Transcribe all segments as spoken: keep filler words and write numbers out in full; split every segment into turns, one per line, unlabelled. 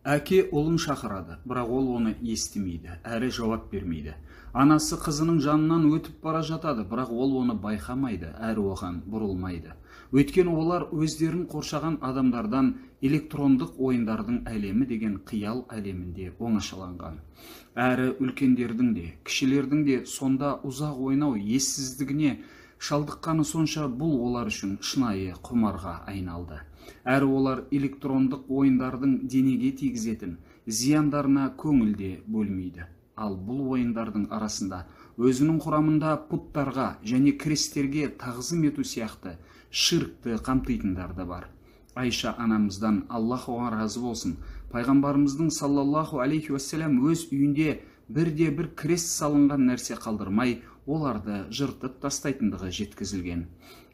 Әке ұлын шақырады, бірақ ол оны естімейді, әрі жауап бермейді. Анасы қызының жанынан өтіп бара жатады, бірақ ол оны байқамайды, әрі оған бұрылмайды. Өйткені олар өздерін қоршаған адамдардан электрондық ойындардың әлемі деген қиял әлемінде оңашаланған. Әрі үлкендердің де, кішілердің де сонда ұзақ ойнау ессіздігіне шалдыққаны сонша бұл олар үшін шынайы құмарға айналды. Әрі олар электрондық ойындардың денеге тигізетін зияндарына көңілде бөлмейді. Ал бұл ойындардың арасында өзінің құрамында пұттарға және крестерге тағзым ету сияқты ширкті қамтитындар да бар. Айша анамыздан Аллах оған разы болсын, пайғамбарымыздың саллаллаху алейхи уассалам өз үйінде бірде бір крест салынған нәрсе қалдырмай, оларды жыртып тастайтындығы жеткізілген.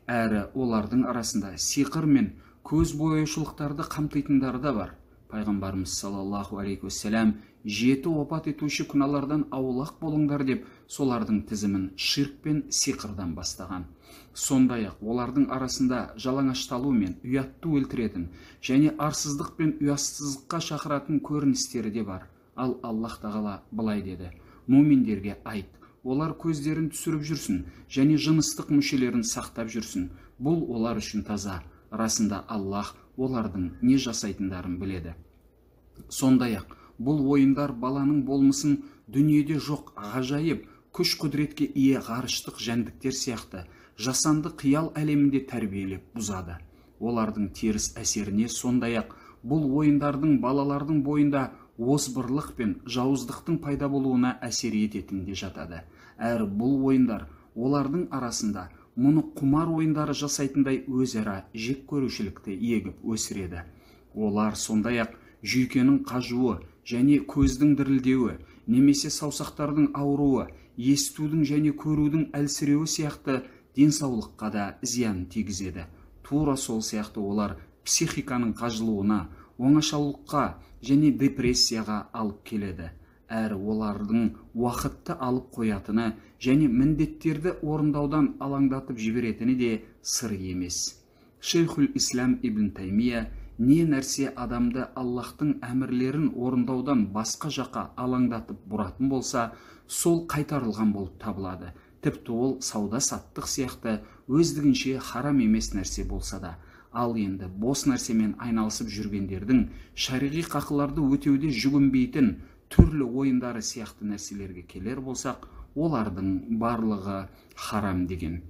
Әрі олардың арасында сиқыр мен көз бояушылықтарды қамтитындары да бар. Пайғамбарымыз саллаллаху алейхи уассалам жеті опат етуші күнәлардан аулақ болыңдар деп солардың тізімін ширк пен сиқырдан бастаған. Сондай-ақ олардың арасында жалаңашталу мен ұятты өлтіретін және арсыздық пен ұятсыздыққа шақыратын көріністері де бар. Ал Аллах тағала былай деді: муминдерге айт, олар көздерін түсіріп жүрсін және жыныстық мүшелерін сақтап жүрсін. Бұл олар үшін таза. Расында Аллах олардың не жасайтындарын біледі. Сондай-ақ бұл ойындар баланың болмысын дүниеде жоқ ғажайып күш құдіретке ие ғарыштық жәндіктер сияқты жасанды қиял әлемінде тәрбиелеп бұзады. Олардың теріс әсеріне сондай-ақ бұл ойындардың балалардың бойында озбырлық пен жауыздықтың пайда болуына әсер ететін де жатады. Әрі бұл ойындар олардың арасында мұны құмар ойындары жасайтындай өзара жек көрушілікті егіп өсіреді. Олар сондай-ақ жүйкенің қажуы және көздің дірілдеуі, немесе саусақтардың ауруы, естудің және көрудің әлсіреуі сияқты денсаулыққа да зиян тигізеді. Тура сол сияқты олар психиканың қажылуына, оңашалыққа және депрессияға алып келеді. Әрі олардың уақытты алып қоятыны және міндеттерді орындаудан алаңдатып жіберетіні де сыр емес. Шейхул Ислам ибн Таймия не нәрсе адамды Аллахтың әмірлерін орындаудан басқа жаққа алаңдатып бұратын болса, сол қайтарылған болып табылады. Тіпті ол сауда-саттық сияқты өздігінше харам емес нәрсе болса да. Ал енді бос нәрсемен айналысып жүргендердің шариғи қақыларды өтеуде жүгінбейтін түрлі ойындары сияқты нәрселерге келер болсақ, олардың барлығы харам деген.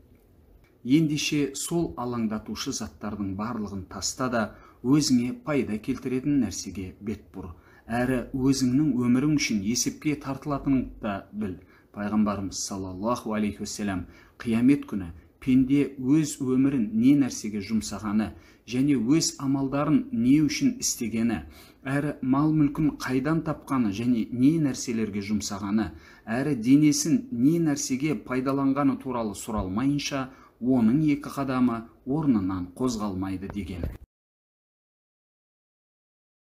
Ендеше сол алаңдатушы заттардың барлығын таста да өзіңе пайда келтіретін нәрсеге бет бұр. Әрі өзіңнің өмірің үшін есепке тартылатыныңды да біл. Пайғамбарымыз саллаллаху алейхи уассалам қиямет күні пенде өз өмірін не нәрсеге жұмсағаны және өз амалдарын не үшін істегені, әрі мал мүлкін қайдан тапқаны және не нәрселерге жұмсағаны, әрі денесін не нәрсеге пайдаланғаны туралы сұралмайынша, оның екі қадамы орнынан қозғалмайды деген.